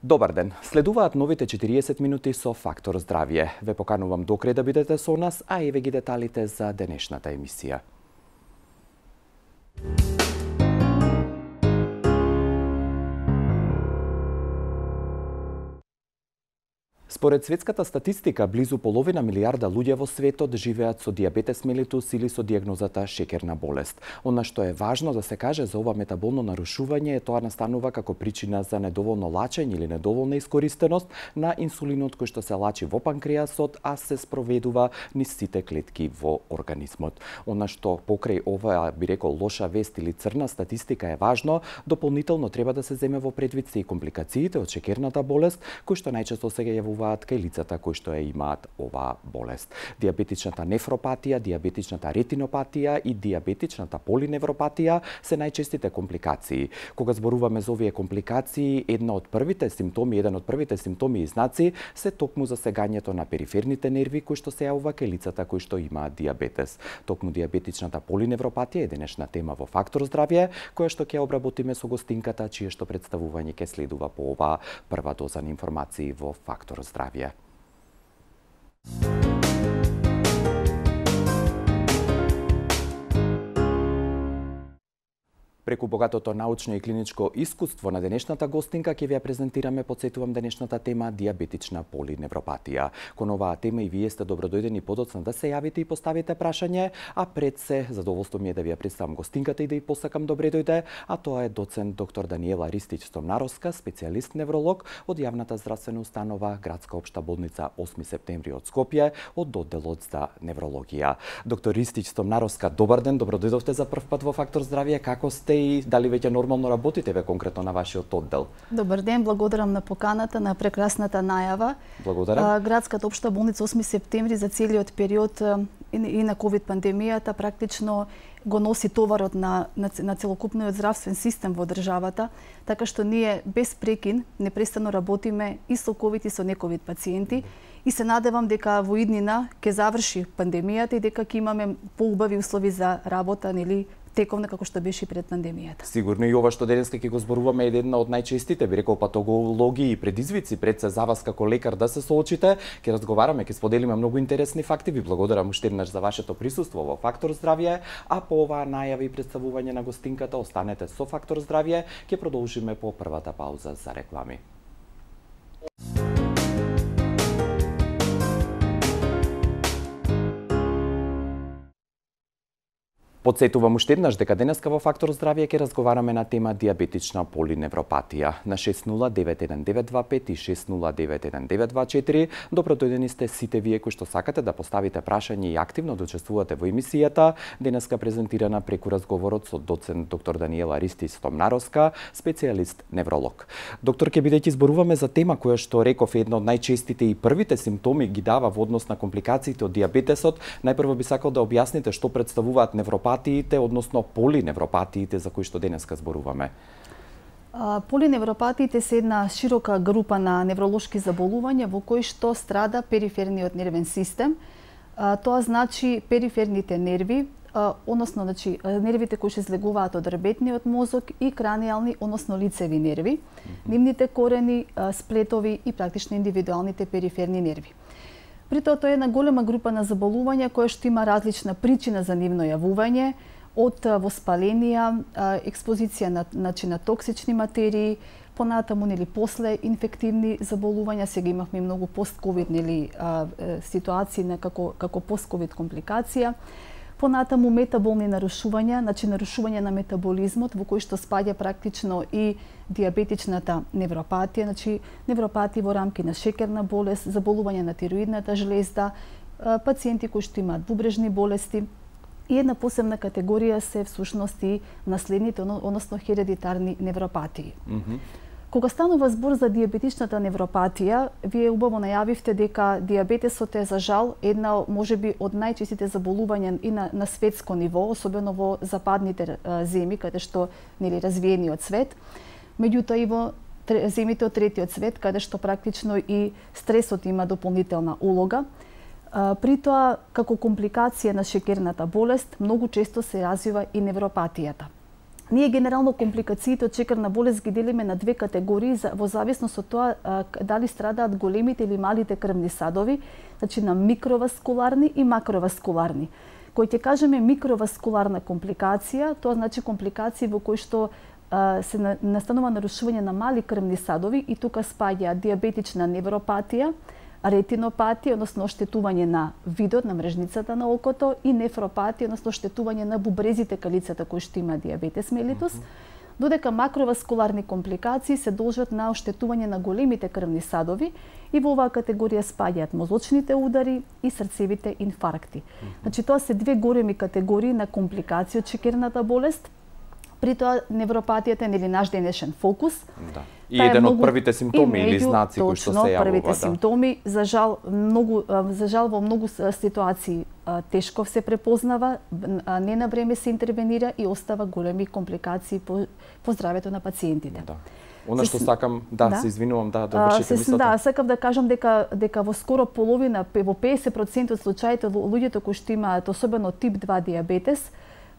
Добар ден. Следуваат новите 40 минути со Фактор здравје. Ве поканувам до крај да бидете со нас, а еве ги деталите за денешната емисија. Според светската статистика, близу половина милијарда луѓе во светот живеат со дијабетес мелитус или со дијагнозата шеќерна болест. Она што е важно да се каже за ова метаболно нарушување е тоа настанува како причина за недоволно лачење или недоволна искористеност на инсулинот кој што се лачи во панкреасот, а се спроведува низ сите клетки во организмот. Она што покрај ова би рекол лоша вест или црна статистика е важно, дополнително треба да се земе во предвид се и компликациите од шеќерната болест, кои што најчесто се јавуваат кај лицата кои што ја имаат оваа болест. Дијабетичната нефропатија, дијабетичната ретинопатија и дијабетичната полиневропатија се најчестите компликации. Кога зборуваме за овие компликации, еден од првите симптоми и знаци се токму засегањето на периферните нерви кои што се јавува кај лицата кои што имаат дијабетес. Токму дијабетичната полиневропатија е денешна тема во Фактор здравје, која што ќе обработиме со гостинката, чие што представување ќе следува по оваа прва доза на информации во Фактор здравје. Преку богатото научно и клиничко искуство на денешната гостинка ќе ви ја презентираме, потсетувам, денешната тема дијабетична полиневропатија. Кон оваа тема и вие сте добродојдени подоцна да се јавите и поставите прашање, а пред се задоволство ми е да ви ја представам гостинката и да ја посакам добре дојде, а тоа е доцент доктор Даниела Ристич-Стомнаровска, специјалист невролог од јавната здравствена установа Градска општа болница 8 септември од Скопје, од одделот за неврологија. Доктор Ристич-Стомнаровска, добар ден, добродојдовте за прв пат во Фактор здравје. Како сте и дали веќе нормално работите ве конкретно на вашиот оддел? Добар ден, благодарам на поканата, на прекрасната најава. Благодарам. Градската општа болница 8 септември за целиот период и на ковид пандемијата практично го носи товарот на целокупниот здравствен систем во државата, така што ние без прекин непрестано работиме и со ковид и со нековид пациенти и се надевам дека во иднина ќе заврши пандемијата и дека ќе имаме поубави услови за работа, нели, тековна како што беше пред пандемијата. Сигурно и ова што денеска ќе го зборуваме е една од најчестите, би рекол, патологии и предизвици пред се за вас како лекар да се соочите. Ќе разговараме, ќе споделиме многу интересни факти. Ви благодарам уште еднаш за вашето присуство во Фактор здравје, а по оваа најава и представување на гостинката останете со Фактор здравје. Ќе продолжиме по првата пауза за реклами. Потсетувам уште еднаш дека денеска во Фактор здравје ќе разговараме на тема дијабетична полиневропатија. На 609195 и 609194 добродојдени сте сите вие кои што сакате да поставите прашање и активно да учествувате во емисијата, денеска презентирана преку разговорот со доцент доктор Даниела Ристич-Стомнаровска, специјалист невролог. Доктор, ќе бидејќи зборуваме за тема која што реков е една од најчестите и првите симптоми ги дава во однос на компликациите од дијабетесот, најпрво би сакал да објасните што представуваат невропатиите, односно полиневропатиите за кои што денеска зборуваме. Полиневропатиите се една широка група на невролошки заболувања во кои што страда периферниот нервен систем. Тоа значи периферните нерви, односно нервите кои се слегуваат од дребетниот мозок и кранијални, односно лицеви нерви, нивните корени, сплетови и практично индивидуалните периферни нерви. При тоа тоа е една голема група на заболувања која што има различна причина за нивно јавување, од воспаленија, експозиција на токсични материи, понатаму нели после инфективни заболувања, сега имавме многу пост-ковид ситуации како пост-ковид компликација. Понатаму метаболни нарушувања, нарушување на метаболизмот во кој што спаѓа практично и дијабетичната невропатија, невропатија во рамки на шеќерна болест, заболување на тироидната жлезда, пациенти кои што имаат бубрежни болести и една посебна категорија се всушност и наследните, односно хередитарни невропатии. Кога станува збор за дијабетичната невропатија, вие убаво најавивте дека дијабетесот е за жал една можеби од најчестите заболувања и на светско ниво, особено во западните земји каде што нели развиениот свет. Меѓутоа и во земјите од третиот свет каде што практично и стресот има дополнителна улога. При тоа, како компликација на шеќерната болест, многу често се развива и невропатијата. Ние генерално компликациите од шекерна болест ги делиме на две категории во зависност од тоа дали страдаат големите или малите крвни садови, значи на микроваскуларни и макроваскуларни. Кој ќе кажеме микроваскуларна компликација, тоа значи компликации во кои што се настанува нарушување на мали крвни садови и тука спаѓа диабетична невропатија, ретинопатија, односно оштетување на видот, на мрежницата на окото, и нефропатија, односно оштетување на бубрезите кај лицата кои што има диабетес мелитус, додека макроваскуларни компликации се должат на оштетување на големите крвни садови и во оваа категорија спаѓаат мозочните удари и срцевите инфаркти. Значи тоа се две големи категории на компликации од шекерната болест. При тоа невропатијата е наш денешен фокус. Да. И еден од првите симптоми или знаци кои што се јавува. Првите симптоми, за жал во многу ситуации тешко се препознава, не на време се интервенира и остава големи компликации по здравјето на пациентите. Да. Она што сакам, се извинувам, довршите мислата. Сакам да кажам дека во скоро половина, во 50% од случаите луѓето кои што имаат особено тип 2 диабетес,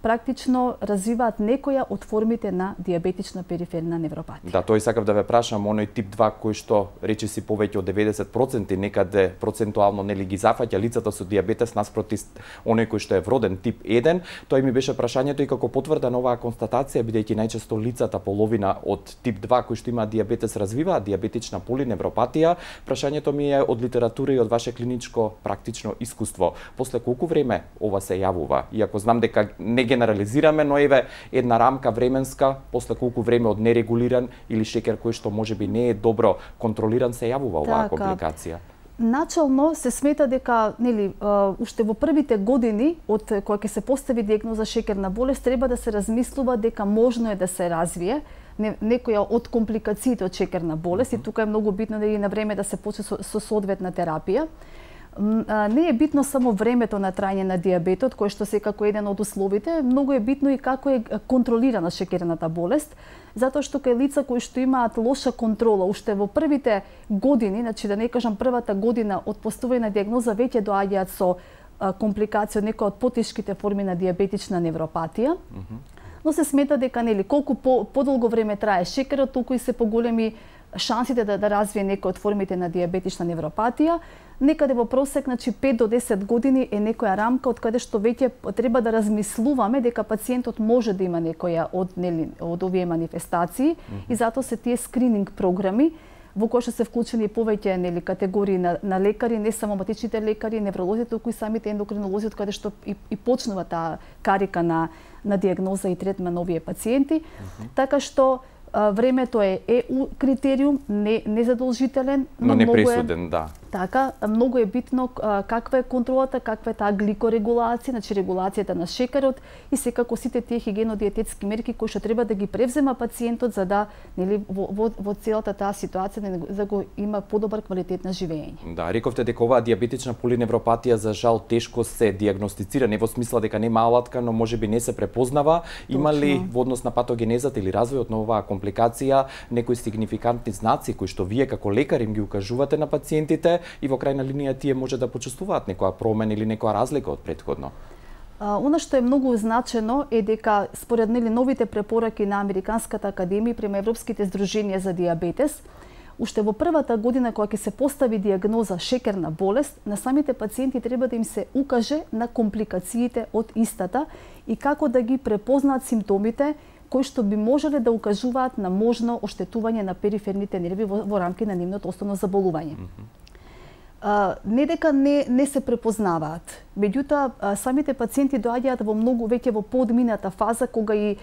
практично развиваат некоја од формите на диабетична периферна невропатија. Да, тој сакав да ве прашам, оној тип 2 кој што речиси повеќе од 90% некаде процентуално нели ги зафаќа лицата со диабетес наспроти оној кој што е вроден тип 1, тој ми беше прашањето и како потврда на оваа констатација, бидејќи најчесто лицата половина од тип 2 кои што имаат диабетес развиваат диабетична полиневропатија, прашањето ми е од литература и од ваше клиничко практично искуство. После колку време ова се јавува? Иако знам дека не генерализираме, но еве една рамка временска, после колку време од нерегулиран или шекер кој што можеби не е добро контролиран се јавува оваа компликација? Начално се смета дека уште во првите години од кога ќе се постави диагноза шекерна болест треба да се размислува дека можно е да се развие некоја од компликациите од шекерна болест и тука е многу битно да и на време да се почне со соодветна терапија. Не е битно само времето на трајање на диабетот, кој што секако е еден од условите, многу е битно и како е контролирана шекерната болест, затоа што кај лица кои што имаат лоша контрола уште во првите години, значи да не кажам првата година од поставување на диагноза, веќе доаѓаат со компликација од некоја од потешките форми на диабетична невропатија. Но се смета дека колку подолго време трае шекерот, толку и се поголеми шансите да развие некој од формите на диабетична невропатија. Некаде во просек, 5 до 10 години е некоја рамка од каде што веќе треба да размислуваме дека пациентот може да има некоја од овие манифестации и затоа се тие скрининг програми во кои што се вклучени повеќе категории на лекари, не само матичните лекари, невролозите, туку и самите ендокринолози, од каде што и почнува таа карика на диагноза и третман на овие пациенти. Така што времето е критериум, не задолжителен, но не пресуден, да. Така, многу е битно каква е контролата, каква е таа гликорегулација, значи регулацијата на шекерот и секако сите тие хигиено-диететски мерки кои што треба да ги превзема пациентот за да во целата таа ситуација да го има подобар квалитет на живење. Да, рековте дека оваа диабетична полиневропатија за жал тешко се диагностицира, не во смисла дека нема алатка, но можеби не се препознава. Има ли во однос на патогенезата или развојот на оваа компликација некои сигнификантни знаци кои што вие како лекар им ги укажувате на пациентите и во крајна линија тие може да почувствуваат некоја промена или некоја разлика од претходно? Она што е многу значено е дека според новите препораки на Американската академија према Европските здруженија за диабетес, уште во првата година кога ќе се постави диагноза шекерна болест, на самите пациенти треба да им се укаже на компликациите од истата и како да ги препознаат симптомите кои што би можеле да укажуваат на можно оштетување на периферните нерви во рамки на нивното основно заболување. Не дека не се препознаваат, меѓутоа самите пациенти доаѓаат во многу веќе во подмината фаза кога и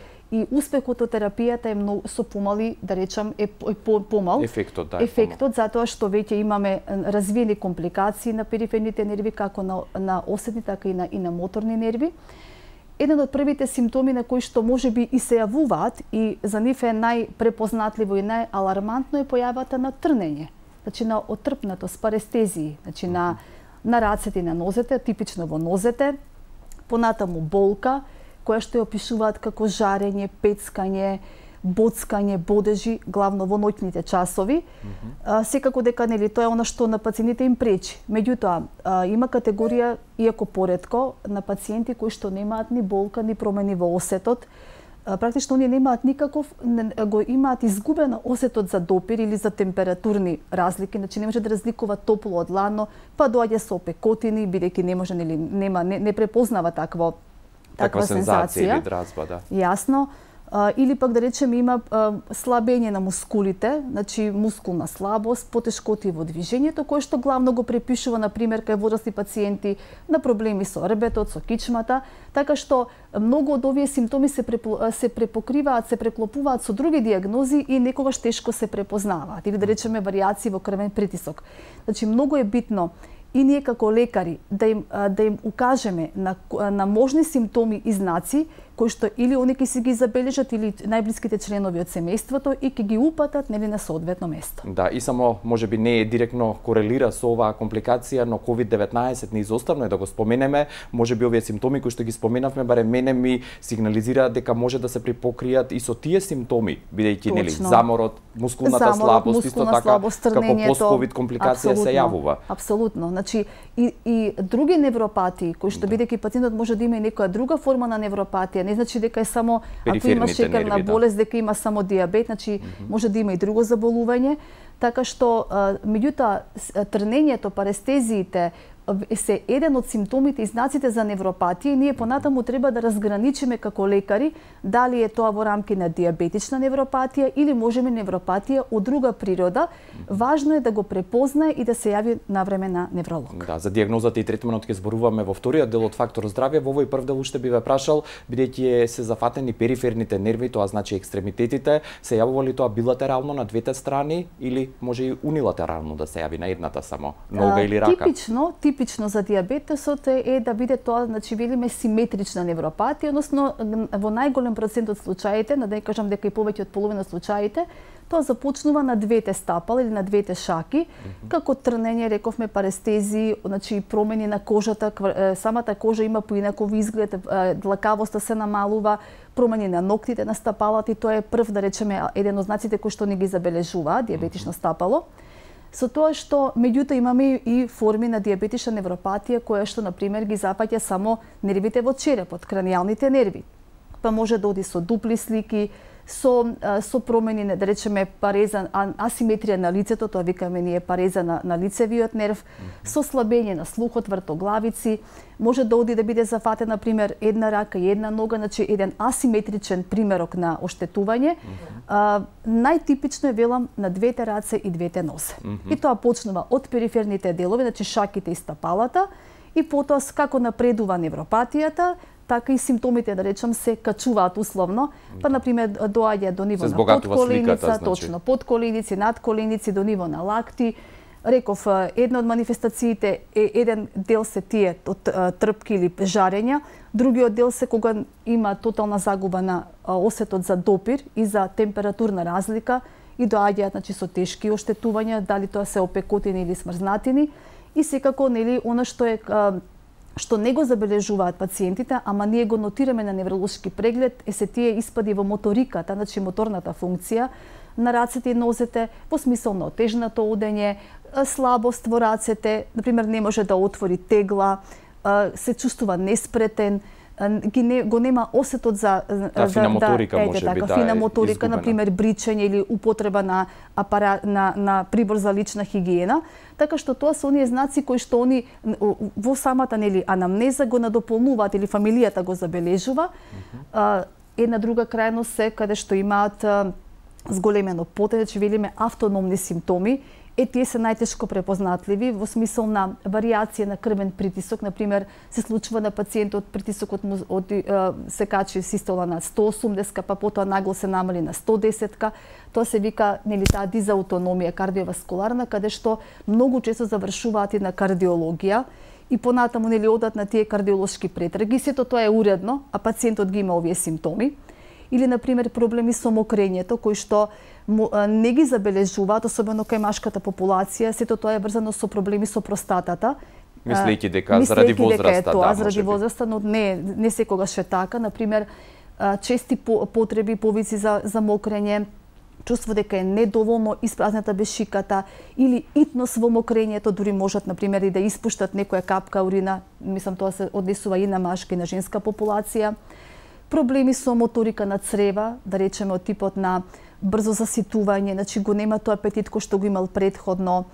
успехот од терапијата е многу со помали, да речам, е помал. Ефектот затоа што веќе имаме развиени компликации на периферните нерви како на осетни така и на моторни нерви. Еден од првите симптоми на кои што можеби и се јавуваат и за нив е најпрепознатливо и најалармантно е појавата на трнење. Значи на отрпнатост, парестезии, значи на рацете и на нозете, типично во нозете, понатаму болка, која што ја опишуваат како жарење, пецкање, боцкање, бодежи, главно во ноќните часови. Секако дека тоа е она што на пациентите им пречи. Меѓутоа, има категорија, иако поретко, на пациенти кои што немаат ни болка, ни промени во осетот, практично оние немаат никаков, го имаат изгубено осетот за допир или за температурни разлики, значи не може да разликува топло од ладно, па доаѓа со опекотини, бидејќи не може, нели, не препознава таква сензација или дразба, да. Јасно. Или пак да речеме има слабење на мускулите, значи мускулна слабост, потешкоти во движењето, кое што главно го препишува на пример кај возрастни пациенти на проблеми со рбетот, со кичмата, така што многу од овие симптоми се препокриваат, се преклопуваат со други диагнози и некогаш тешко се препознаваат, или да речеме варијации во крвен притисок. Значи многу е битно и ние како лекари да им укажеме на можни симптоми и знаци кои што или они ќе си ги забележат или најблиските членови од семејството и ќе ги упатат, нели, на соодветно место. Да, и само можеби не е директно корелира со оваа компликација, но COVID-19 неизоставно е да го споменеме. Можеби овие симптоми кои што ги споменавме барем мене ми сигнализираат дека може да се припокријат и со тие симптоми, бидејќи нели заморот, мускулната слабост, исто така како пост-ковид компликација се јавува. Апсолутно. Значи и други невропатии кои што бидејќи пациентот може да има и некоја друга форма на невропатија, не значи дека е само ако има шекерна болест, дека има само диабет, значи може да има и друго заболување, така што меѓутоа трнењето, парестезиите се еден од симптомите и знаците за невропатија и ние понатаму треба да разграничиме како лекари дали е тоа во рамки на диабетична невропатија или можеме невропатија од друга природа. Важно е да го препознае и да се јави навреме на невролог. Да, за дијагнозата и третманот ќе зборуваме во вториот дел од Фактор здравје. Во овој прв дел уште би ве прашал, бидејќи се зафатени периферните нерви, тоа значи екстремитетите, се јавува ли тоа билатерално на двете страни или може и унилатерално да се јави на едната само, нога или рака? Типично за диабетесот е да биде тоа, значи велиме симетрична невропатија, односно во најголем процент од случаите, да не кажам дека и повеќе од половина од случаите, тоа започнува на двете стапала или на двете шаки, како трнење, рековме, парестези, значи промени на кожата, самата кожа има поинаков изглед, длакавоста се намалува, промени на ноктите на стапалата и тоа е прв, да речеме, еден од знаците кои што не ги забележува диабетично стапало. Со тоа што меѓутоа имаме и форми на диабетична невропатија која што на пример ги запаќа само нервите во черепот, кранијалните нерви. Па може да оди со дупли слики, со промени, да речеме пареза, асиметрија на лицето, тоа викаме ние пареза на лицевиот нерв, со слабење на слухот, вртоглавици, може да оди да биде зафатен, на пример, една рака и една нога, значи еден асиметричен примерок на оштетување. Најтипично е, велам, на двете раце и двете нозе. И тоа почнува од периферните делови, значи шаките и стапалата, и потоа како напредува невропатијата, така и симптомите, да речам, се качуваат условно, па на пример доаѓа до ниво на подколеница, точно, подколеници, надколеници, до ниво на лакти. Реков, една од манифестациите е еден дел се тие од трпки или жарења, другиот дел се кога има тотална загуба на осетот за допир и за температурна разлика и доаѓаат, значи, со тешки оштетувања, дали тоа се опекотини или смрзнатини, и секако, нели, она што не го забележуваат пациентите, ама ние го нотираме на невролошки преглед, се тие испади во моториката, значи моторната функција на рацете и нозете, во смисол на отежнато одење, слабост во рацете, например не може да отвори тегла, се чувствува неспретен, го нема осетот за фина моторика, можеби, фина моторика, например бричење или употреба на на прибор за лична хигиена, така што тоа се оние знаци кои што они во самата, нели, анамнеза го надополнуваат или фамилијата го забележува. Една друга крајност се каде што имаат зголемено потење, че велиме автономни симптоми, тие се најтешко препознатливи во смисол на варијација на крвен притисок. Например, се случува на пациентот притисокот му се качи систола на 180, па потоа нагло се намали на 110. Тоа се вика, нели, таа дизаутономија кардиоваскуларна, каде што многу често завршуваат и на кардиологија и понатаму, нели, одат на тие кардиолошки претраги. Сето тоа е уредно, а пациентот ги има овие симптоми. Или, например, проблеми со мокрењето, кои што не ги забележуваат, особено кај машката популација, сето тоа е врзано со проблеми со простатата. Мислејќи дека заради возраста, да, заради возраста, но не секогаш е така. Например, чести потреби, повици за мокрење, чувство дека е недоволно испразната бешиката или итност во мокрењето, дури можат, например, и да испуштат некоја капка урина, мислам тоа се однесува и на машка и на женска популација. проблеми со моторика на црева, да речеме од типот на брзо заситување, значи го нема тој апетит кој што го имал претходно,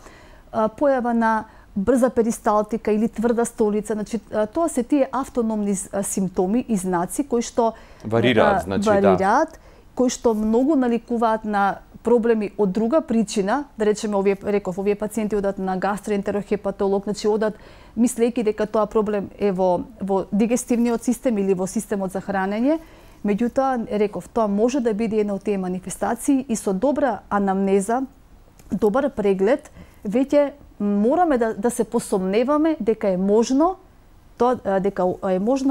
појава на брза перисталтика или тврда столица, значи тоа се тие автономни симптоми и знаци кои што варираат, кои што многу наликуваат на проблеми од друга причина, да речеме овие пациенти одат на гастроентерохепатолог, значи одат мислејќи дека тоа проблем е во дигестивниот систем или во системот за хранење. Меѓутоа, тоа може да биде една од тие манифестации и со добра анамнеза, добар преглед, веќе мораме да се посомневаме дека е можно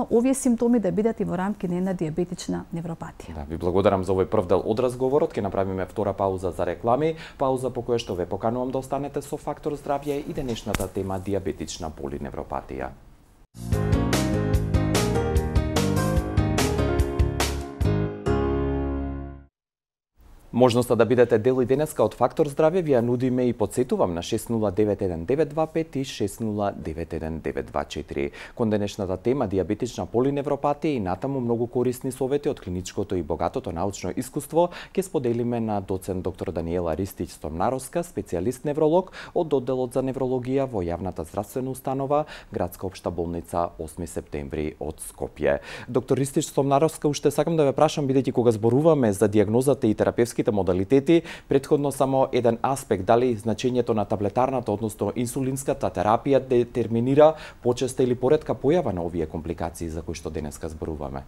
овие симптоми да бидат и во рамки на една диабетична невропатија. Да, ви благодарам за овој прв дел од разговорот. Ќе направиме втора пауза за реклами, пауза по која што ве поканувам да останете со Фактор здравје и денешната тема диабетична полиневропатија. Можноста да бидете дел и денеска од Фактор здравје ви ја нудиме и подсетувам на 6091-925 и 6091-924. Кон денешната тема диабетична полиневропатија и натаму многу корисни совети од клиничкото и богатото научно искуство ќе споделиме на доцент доктор Даниела Ристич-Стомнаровска, специјалист невролог од одделот за неврологија во јавната здравствена установа Градска општа болница 8 септември од Скопје. Доктор Ристич-Стомнаровска, уште сакам да ве прашам, бидејќи кога зборуваме за диагнозата и терапевските модалитети, претходно само еден аспект, дали значењето на таблетарната, односно инсулинската терапија детерминира почеста или поретка појава на овие компликации за кои што денеска зборуваме?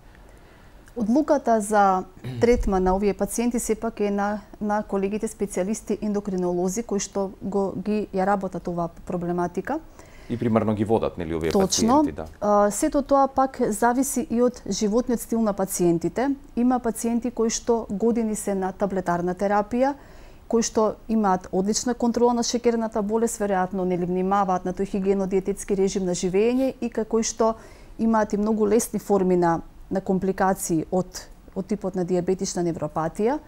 Одлуката за третман на овие пациенти сепак е на колегите специјалисти ендокринолози кои што ја работат оваа проблематика. И примерно ги водат, нели, овие пациенти, да. Сето тоа пак зависи и од животниот стил на пациентите. Има пациенти кои што години се на таблетарна терапија, кои што имаат одлична контрола на шеќерната болест, веројатно нели внимаваат на тој хигиено-диететски режим на живење и кои што имаат и многу лесни форми на компликации од типот на диабетична невропатија.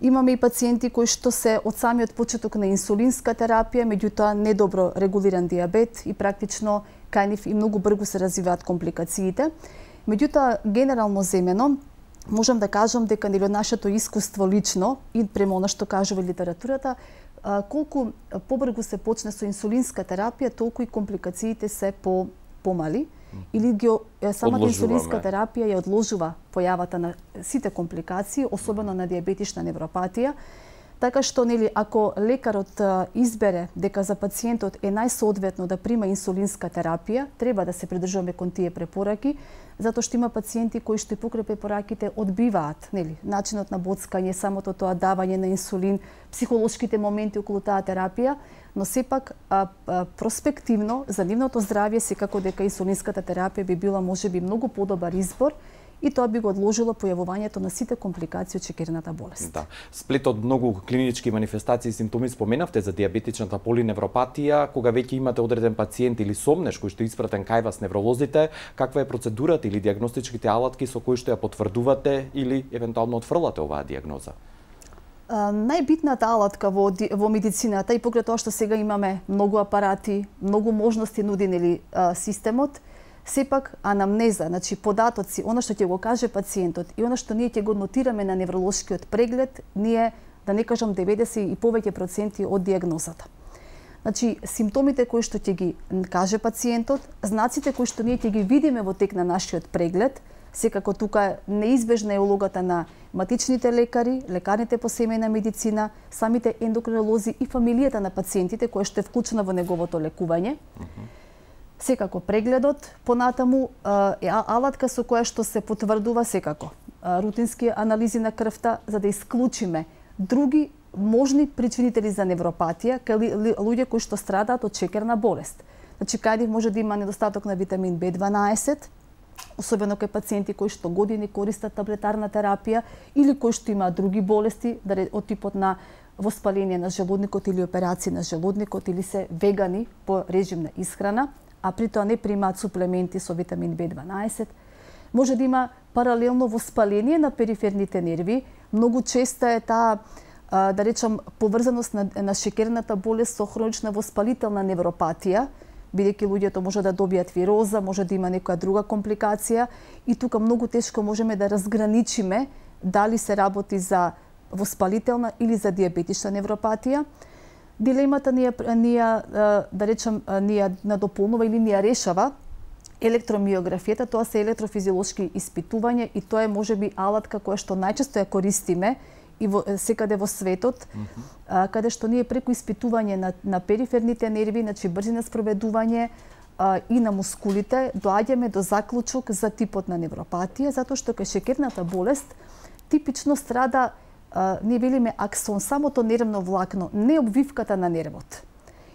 Имаме и пациенти кои што се од самиот почеток на инсулинска терапија, меѓутоа недобро регулиран диабет и практично кај нив и многу брзо се развиваат компликациите. Меѓутоа, генерално земено, можам да кажам дека нели од нашето искуство лично и према она што кажува литературата, колку побрзо се почне со инсулинска терапија, толку и компликациите се помали. Или самата инсулинска терапија ја одложува појавата на сите компликации, особено на диабетична невропатија. Така што, нели, ако лекарот избере дека за пациентот е најсоодветно да прима инсулинска терапија, треба да се придржуваме кон тие препораки, затоа што има пациенти кои што и покрај препораките одбиваат, нели, начинот на боцкање, самото тоа давање на инсулин, психолошките моменти околу таа терапија, но сепак проспективно за нивното здравје секако дека инсулинската терапија би била можеби многу подобар избор и тоа би го одложило појавувањето на сите компликации од шеќерната болест. Да. Сплет од многу клинички манифестации и симптоми споменавте за диабетичната полиневропатија, кога веќе имате одреден пациент или сомнеш кој што е испратен кај вас невролозите, каква е процедурата или диагностичките алатки со кои што ја потврдувате или евентуално отфрлате оваа диагноза? Најбитната алатка во медицината и покрај тоа што сега имаме многу апарати, многу можности нуди нели системот, сепак анамнеза, значи податоци, она што ќе го каже пациентот и она што ние ќе го нотираме на невролошкиот преглед, ние да не кажам 90 и повеќе проценти од диагнозата. Значи симптомите кои што ќе ги каже пациентот, знаците кои што ние ќе ги видиме во тек на нашиот преглед, секако тука неизбежна е улогата на матичните лекари, лекарите по семејна медицина, самите ендокринолози и фамилијата на пациентите која што е вклучена во неговото лекување. Секако прегледот, понатаму е алатка со која што се потврдува секако рутински анализи на крвта за да исклучиме други можни причинители за невропатија кај луѓе кои што страдаат од шеќерна болест. Значи кај нив може да има недостаток на витамин B12, особено кај пациенти кои што години користат таблетарна терапија или кои што имаат други болести од типот на воспаление на желудникот или операции на желудникот или се вегани по режим на исхрана, а при тоа не примаат суплементи со витамин B12. Може да има паралелно воспаление на периферните нерви. Многу честа е таа, да речам, поврзаност на шеќерната болест со хронична воспалителна невропатија. бидејќи луѓето може да добијат вироза, може да има некоја друга компликација и тука многу тешко можеме да разграничиме дали се работи за воспалителна или за дијабетична невропатија. Дилемата ни ја надополнува или ни ја решава електромиографијата. Тоа се електрофизиолошки испитувања и тоа е можеби алатка која што најчесто ја користиме и секаде во светот, каде што ние преку испитување на периферните нерви, значи брзина спроведување и на мускулите, доаѓаме до заклучок за типот на невропатија, затоа што кај шеќерната болест типично страда, ние велиме аксон, самото нервно влакно, не обвивката на нервот.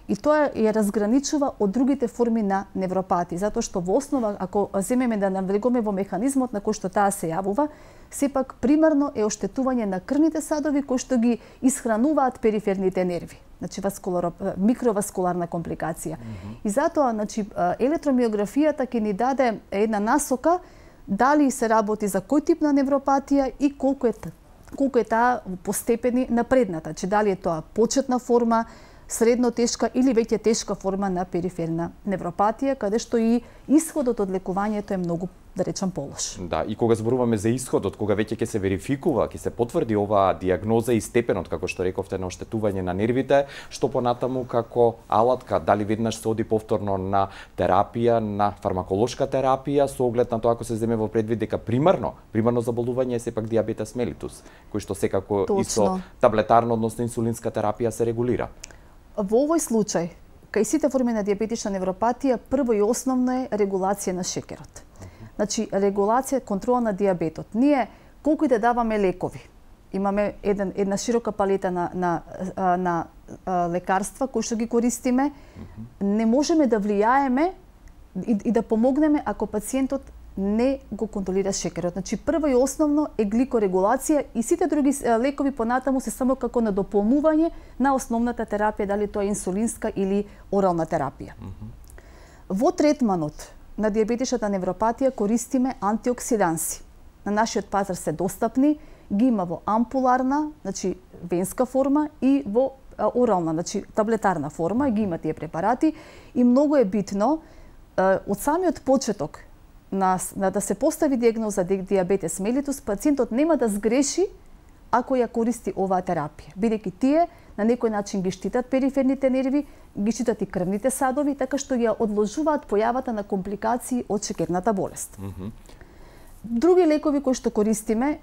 И тоа ја разграничува од другите форми на невропатија, затоа што во основа, ако земеме да навлегуваме во механизмот на кој што таа се јавува, сепак примарно е оштетување на крвните садови кои што ги исхрануваат периферните нерви, значи микроваскуларна компликација. И затоа, значи, електромиографијата ќе ни даде една насока дали се работи за кој тип на невропатија и колку е таа по степени напредната, че дали е тоа почетна форма, средно тешка или веќе тешка форма на периферна невропатија, каде што и исходот од лекувањето е многу, да речам, полош. Да, и кога зборуваме за исходот, кога веќе ќе се верификува, ќе се потврди оваа дијагноза и степенот, како што рековте, на оштетување на нервите, што понатаму како алатка, дали веднаш се оди повторно на терапија, на фармаколошка терапија, со оглед на тоа ако се земе во предвид дека примарно заболување е сепак дијабетес мелитус, кој што секако и со таблетарна, односно инсулинска терапија се регулира. Во овој случај, кај сите форми на дијабетична невропатија, прво и основно е регулација на шекерот. Значи, регулација, контрола на дијабетот. Ние, колку и да даваме лекови, имаме една широка палета на лекарства кои што ги користиме, не можеме да влијаеме и да помогнеме ако пациентот не го контролира шекерот. Значи, прво и основно е гликорегулација и сите други лекови понатаму се само како надополнување на основната терапија, дали тоа е инсулинска или орална терапија. Во третманот на дијабетичната невропатија користиме антиоксиданси. На нашиот пазар се достапни, ги има во ампуларна, значи венска форма и во орална, значи таблетарна форма, ги има тие препарати и многу е битно од самиот почеток да се постави дијагноза дијабетес мелитус, пациентот нема да сгреши ако ја користи оваа терапија, бидејќи тие на некој начин ги штитат периферните нерви, ги штитат и крвните садови, така што ја одложуваат појавата на компликации од шеќерната болест. Други лекови кои што користиме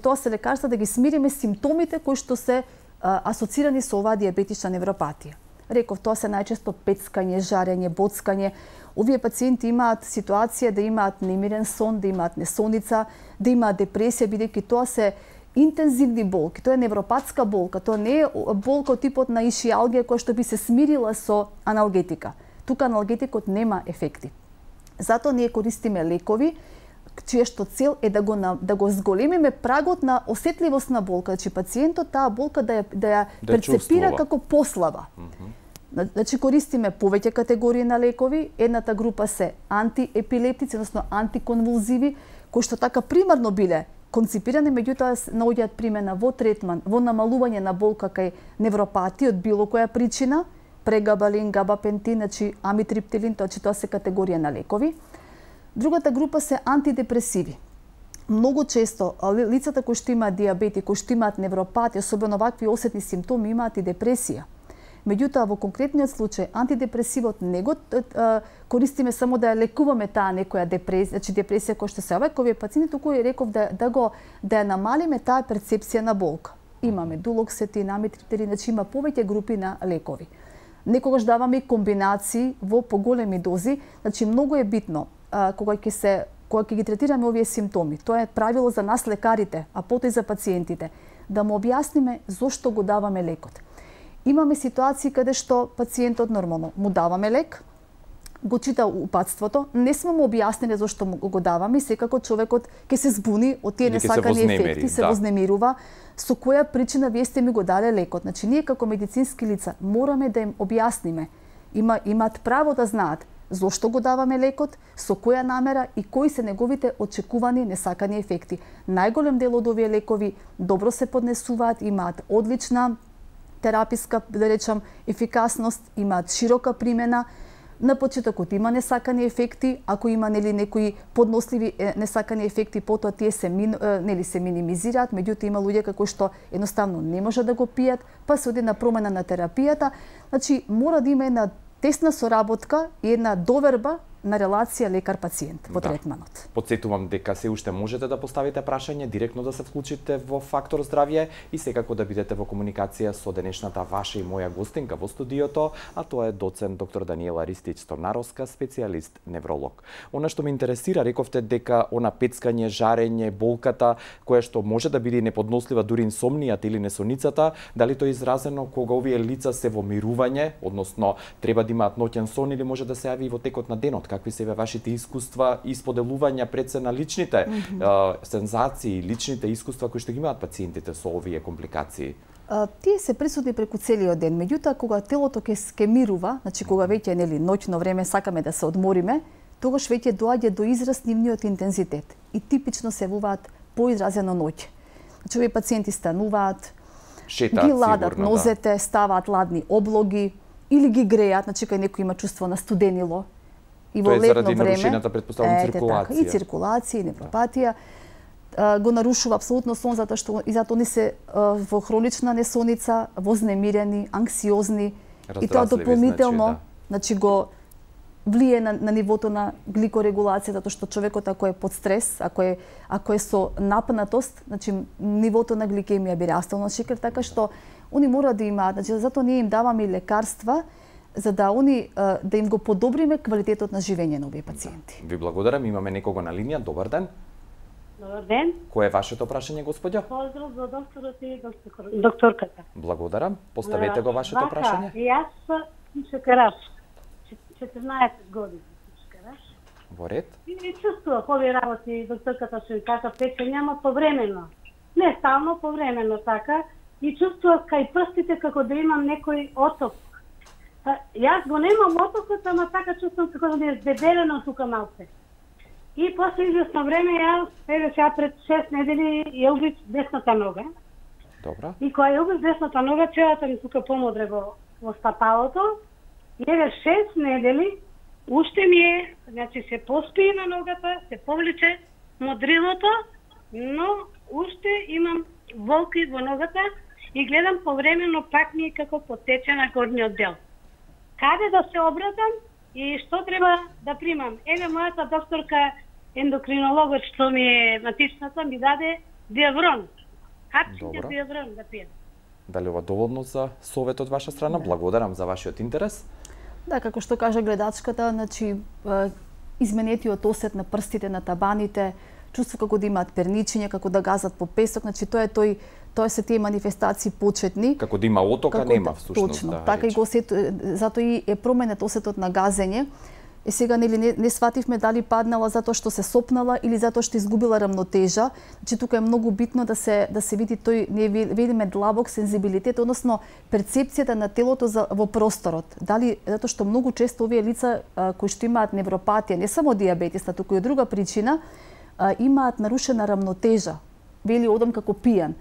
тоа се лекарства да ги смириме симптомите кои што се асоцирани со оваа дијабетична невропатија. Реков, тоа се најчесто пецкање, жарење, боцкање. Овие пациенти имаат ситуација да имаат немирен сон, да имаат несоница, да имаат депресија, бидејќи тоа се интензивни болки, тоа е невропатска болка, тоа не е болка од типот на ишиалгија која што би се смирила со аналгетика. Тука аналгетикот нема ефекти. Затоа ние користиме лекови чија што цел е да го зголемиме прагот на осетливост на болка, значи пациентот таа болка да ја перцепира како послаба. Значи користиме повеќе категории на лекови, едната група се антиепилептици, односно антиконвулзиви, кои што така примарно биле конципирани, меѓутоа наоѓаат примена во третман, во намалување на болка кај невропатија од било која причина, прегабалин, габапентин, значи амитриптилин, тоа се категорија на лекови. Другата група се антидепресиви. Многу често лицата кои што имаат дијабет и кои што имаат невропатија, особено вакви осетни симптоми, имаат и депресија. Меѓутоа, во конкретниот случај, антидепресивот не го користиме само да ја лекуваме таа некоја депресија, значи депресија која што се оваа овие пациенти, туку реков да ја намалиме таа перцепција на болка. Имаме дулоксетин, амитриптилин, значи има повеќе групи на лекови. Некогаш даваме и комбинации во поголеми дози, значи многу е битно кога ќе ги третираме овие симптоми. Тоа е правило за нас лекарите, а потоа и за пациентите, да му објасниме зошто го даваме лекот. Имаме ситуации каде што пациентот нормално му даваме лек, го чита упатството, не сме му објасниле зошто го даваме и секако човекот ќе се збуни од тие несакани ефекти, се вознемирува, со која причина вие сте ми го дале лекот. Значи ние како медицински лица мораме да им објасниме, имаат право да знаат зошто го даваме лекот, со која намера и кои се неговите очекувани несакани ефекти. Најголем дел од овие лекови добро се поднесуваат, имаат одлична тераписка, да речам, ефикасност, имаат широка примена, На почетокот има несакани ефекти, ако има некои подносливи несакани ефекти, потоа тие се минимизираат, меѓутоа има луѓе како што едноставно не може да го пијат, па се оди на промена на терапијата. Значи мора да има една тесна соработка и една доверба на релација лекар-пациент во третманот. Потсетувам дека се уште можете да поставите прашање, директно да се вклучите во Фактор здравје и секако да бидете во комуникација со денешната ваша и моја гостинка во студиото, а тоа е доцент доктор Даниела Ристич-Торнаровска, специјалист невролог. Она што ме интересира, рековте дека она пецкање, жарење, болката, која што може да биде неподнослива дури инсомнијата или несоницата, дали тоа е изразено кога овие лица се во мирување, односно треба да имаат ноќен сон или може да се јави и во текот на денот? Какви се вашите искуства и споделувања пред се на личните сензации, личните искуства кои што ги имаат пациентите со овие компликации? Тие се присутни преку целиот ден, меѓутоа кога телото ќе мирува, значи кога веќе ноќно време сакаме да се одмориме, тогаш веќе доаѓа до израз нивниот интензитет и типично се явуваат поизразено ноќе. Значи овие пациенти стануваат, шетаат, ги ладат сигурно, нозете, ставаат ладни облоги или ги греат, значи кај некој има чувство на студенило. И во летно време, циркулација. И циркулација, и невропатија, го нарушува апсолутно сон, затоа они се во хронична несоница, вознемирени, анксиозни, и тоа дополнително, значи го влие на нивото на гликорегулација, затоа што човекот ако е под стрес, ако е со напнатост, значи нивото на гликемија би растало на шекер, така што они мора да имаат, значи затоа ние им даваме и лекарства за да да им го подобриме квалитетот на живење на овие пациенти. Ви благодарам, имаме некого на линија. Добар ден. Добар ден. Кој е вашето прашање, господјо? Поздрав за докторот и докторката. Благодарам. Поставете го вашето прашање. Јас сум шекераш. 14 години шекераш. Во ред. И чувствував овие работи, докторката што така печење, ама повремено. Не стално, повремено така. И чувствував кај прстите како да имам некој оток. Јас го немам отокот, ама така чувствувам како да ми е здебелено тука малце. И после известно време јас, сега пред 6 недели, ја убив десната нога. Добра. И кога ја убив десната нога, челата ми тука помодре во стапалото. И еве 6 недели, уште ми е, значи се поспие на ногата, се повлече модрилото, но уште имам волки во ногата и гледам повремено пак ми е како потече на горниот дел. Каде да се обратам и што треба да примам? Еве мојата докторка ендокринологот што ми е матичната ми даде диаврон. Хапчиња диаврон да пијам. Дали ова доволно за совет од ваша страна? Да. Благодарам за вашиот интерес. Да, како што кажа гледачката, значи изменетиот осет на прстите, на табаните, чувство како да имаат перничење, како да газат по песок, значи тоа се тие манифестации почетни. Како да има отока, нема всушност. Точно, така и го затоа и е променет осетот на газење. И сега не свативме дали паднала затоа што се сопнала или затоа што изгубила рамнотежа. Значи тука е многу битно да се види тој, ние видиме длабок сензибилитет, односно перцепцијата на телото во просторот. Дали затоа што многу често овие лица кои што имаат невропатија, не само дијабетис, туку и од друга причина, имаат нарушена рамнотежа. Вели одам како пијан.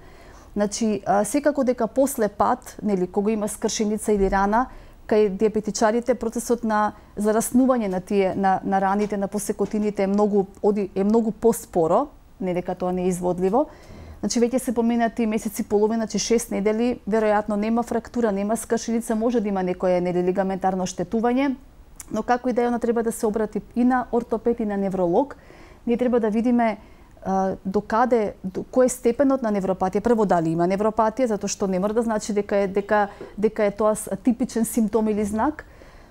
Значи секако дека после пат, кога има скршеница или рана, кај диабетичарите процесот на зараснување на раните, на посекотините е многу поспоро, не дека тоа не е изводливо. Значи веќе се поминати месеци половина, 6 недели, веројатно нема фрактура, нема скршеница, може да има некое лигаментарно штетување, но како и да е, она треба да се обрати и на ортопед и на невролог. Ние треба да видиме до кој е степенот на невропатија. Прво дали има невропатија, затоа што не мора да значи дека е тоа типичен симптом или знак.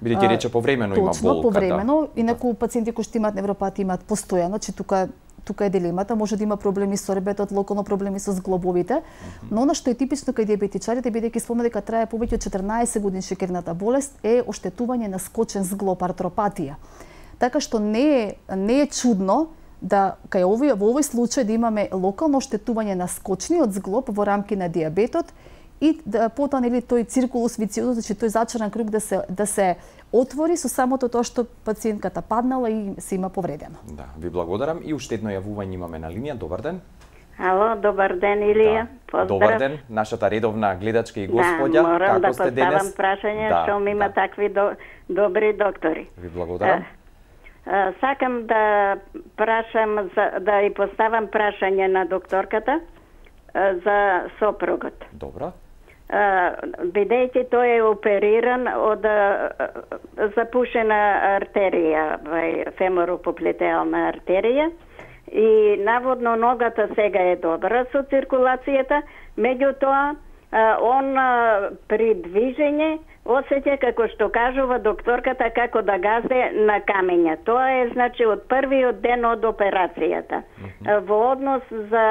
Бидејќи рече повремено има болка. Точно, повремено. Инаку пациенти кои што имаат невропатија имаат постојано, че тука е дилемата, може да има проблеми со ребетот, локално проблеми со зглобовите, но она што е типично кај диабетичарите, бидејќи спомна дека трае повеќе од 14 години шекерната болест, е оштетување на скочен зглоб, артропатија. Така што не е чудно да во овој случај да имаме локално оштетување на скочниот зглоб во рамки на дијабетот и потоа тој циркулус вициозус, значи тој зачаран круг да се отвори со самото тоа што пациентката паднала и се има повредено. Да, ви благодарам и уште едно јавување имаме на линија. Добар ден. Ало, добар ден, Илија. Поздрав. Добар ден, нашата редовна гледачка и господја. Да, морам како сте денес? да поставам прашање, што има такви добри доктори. Ви благодарам. Сакам да прашам, да и поставам прашање на докторката за сопругот. Добро. Бидејќи тој е опериран од запушена артерија, феморопоплетеална артерија, и наводно ногата сега е добра со циркулацијата, меѓутоа он при движење осеќа, како што кажува докторката, како да газе на камења. Тоа е, значи, од првиот ден од операцијата. Во однос за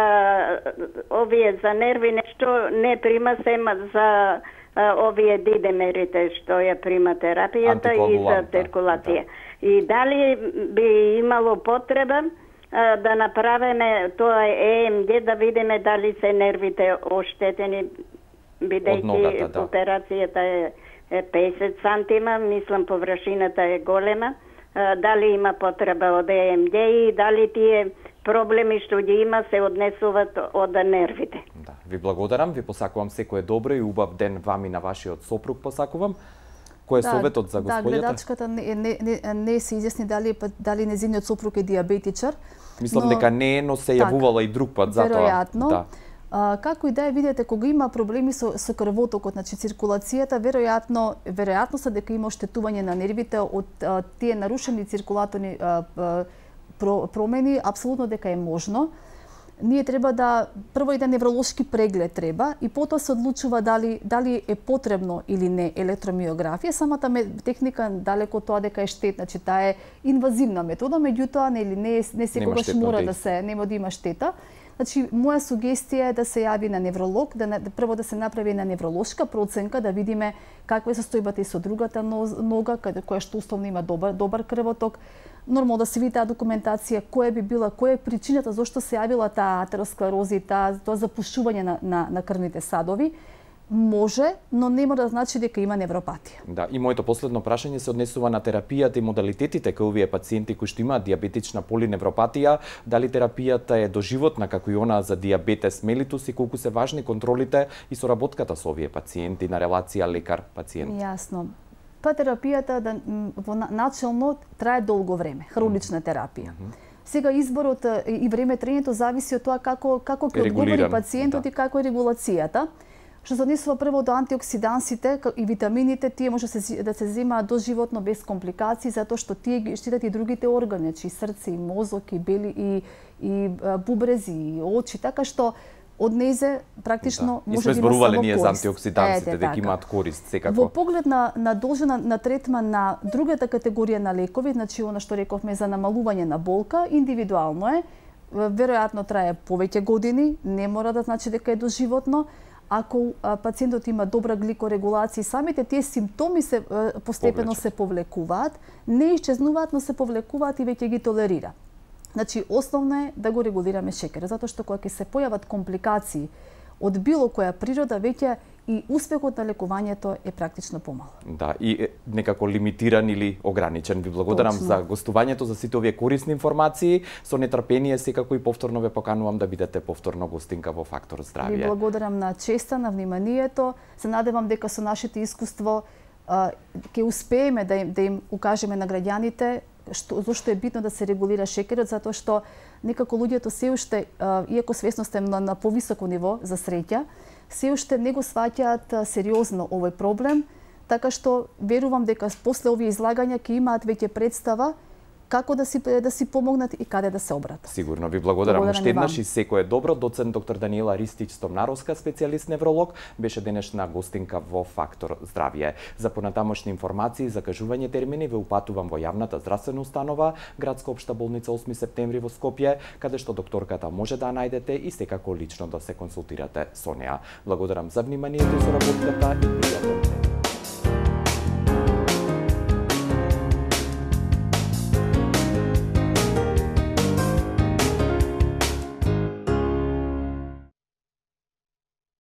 овие за нерви нешто не прима, сема за овие дидемерите што ја прима терапијата и за циркулација. И дали би имало потреба да направиме тоа ЕМГ, да видиме дали се нервите оштетени, бидејќи операцијата е 50 сантима, мислам површината е голема, дали има потреба од ЕМГ и дали тие проблеми што ги има се однесуваат од нервите. Да, ви благодарам, ви посакувам секое добро и убав ден вам и на вашиот сопруг посакувам. Кој е советот за господјата? Да, гледачката не се изјасни дали незиниот сопруг е диабетичар. Мислам дека не е, но се јавувала и друг пат затоа. Веројатно. Да. Како и да е, видите, кога има проблеми со крвотокот, значи циркулацијата, веројатно се дека има оштетување на нервите од тие нарушени циркулаторни промени, апсолутно дека е можно. Ние треба да прво еден невролошки преглед треба и потоа се одлучува дали е потребно или не електромиографија. Самата техника далеко тоа дека е штетна, че таа е инвазивна метода, меѓутоа не секогаш мора да се, нема да има штета. Значи, моја сугестија е да се јави на невролог, прво да се направи една невролошка проценка, да видиме каква е состојбата и со другата нога, која што условно има добар крвоток. Нормално да се види таа документација, која е причината зошто се јавила таа атеросклероза и тоа запушување на крвните садови. Може, но не мора да значи дека има невропатија. Да, и моето последно прашање се однесува на терапијата и модалитетите кај овие пациенти кои што имаат диабетична полиневропатија, дали терапијата е доживотна како и она за диабетес мелитус и колку се важни контролите и соработката со овие пациенти на релација лекар-пациент. Јасно. Па терапијата начелно трае долго време, хронична терапија. Сега изборот и време трењето зависи од тоа како ќе одговори пациентот и како е регулацијата. Што се однесува прво до антиоксидансите и витамините, тие може да се земаат доживотно без компликации, затоа што тие ги штитат и другите органи, значи срце, и мозок, и бели, и бубрези, и очи, така што од незе практично може да има само корист. И сме зборувале ние за антиоксидансите, дека имаат корист секако. Во поглед на должина на третман на другата категорија на лекови, значи она што рековме за намалување на болка, индивидуално е, веројатно трае повеќе години, не мора да значи дека е доживотно. Ако пациентот има добра гликорегулација, самите тие симптоми се постепено се повлекуваат, не исчезнуваат, но се повлекуваат и веќе ги толерира. Значи, основно е да го регулираме шекерот, затоа што кога ќе се појават компликации од било која природа, веќе и успехот на лекувањето е практично помал. Да, и некако лимитиран или ограничен. Ви благодарам за гостувањето, за сите овие корисни информации. Со нетрпение секако и повторно ве поканувам да бидете повторно гостинка во Фактор Здравје. Ви благодарам на честа, на вниманието. Се надевам дека со нашите искуство ќе успееме да им укажеме на граѓаните зошто е битно да се регулира шекерот, затоа што некако луѓето се уште, иако свесноста е на повисоко ниво за среќа, се уште не го сваќаат сериозно овој проблем, така што верувам дека после овие излагања ќе имаат веќе представа како да си помогнат и каде да се обратат. Сигурно, ви благодарам уште еднаш и секое добро. Доцент доктор Даниела Ристич-Стомнаровска, специјалист невролог, беше денешна гостинка во Фактор Здравје. За понатамошни информации и закажување термини ве упатувам во јавната здравствена установа, Градска општа болница 8 септември во Скопје, каде што докторката може да најдете и секако лично да се консултирате со неа. Благодарам за вниманието и соработката и пријатен ден.